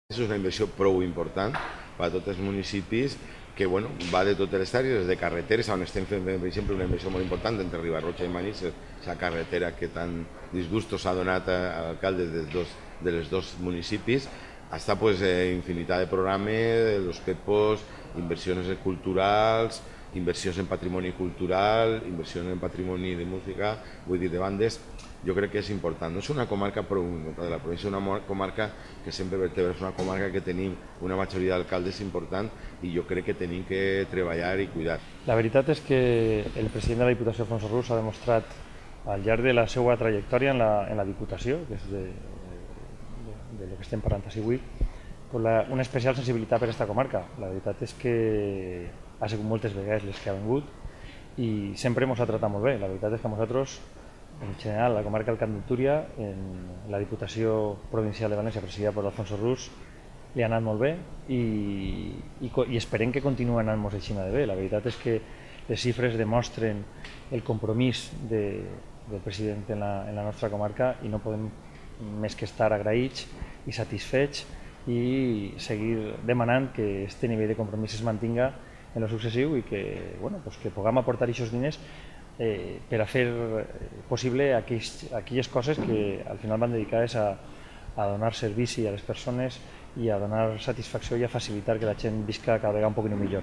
És una inversió prou important per a tots els municipis que va de totes les àrees, des de carreteres, on estem fent, per exemple, una inversió molt important entre Ribarroja i Manises, la carretera que tan disgustos ha donat a alcaldes de les dos municipis, hasta infinitat de programes, los PEPOs, inversions culturals, inversions en patrimoni cultural, inversions en patrimoni de música, vull dir, de bandes. Jo crec que és important. No és una comarca prou important de la província, és una comarca que sempre vertebra, és una comarca que tenim una majoria d'alcaldes important i jo crec que tenim que treballar i cuidar. La veritat és que el president de la Diputació, Alfonso Rus, ha demostrat al llarg de la seva trajectòria en la Diputació, que és de lo que estem parlant avui, una especial sensibilitat per aquesta comarca. La veritat és que ha sigut moltes vegades les que ha vingut i sempre ens ha tratat molt bé. La veritat és que a nosaltres, en general, la comarca del Camp de Túria, en la Diputació Provincial de València, presidida per Alfonso Rus, li ha anat molt bé i esperem que continuï anant-nos així de bé. La veritat és que les xifres demostren el compromís del president en la nostra comarca i no podem més que estar agraïts i satisfets i seguir demanant que aquest nivell de compromís es mantinga en el successiu i que puguem aportar aquests diners per a fer possible aquelles coses que al final van dedicades a donar servici a les persones i a donar satisfacció i a facilitar que la gent visca cada vegada un poc millor.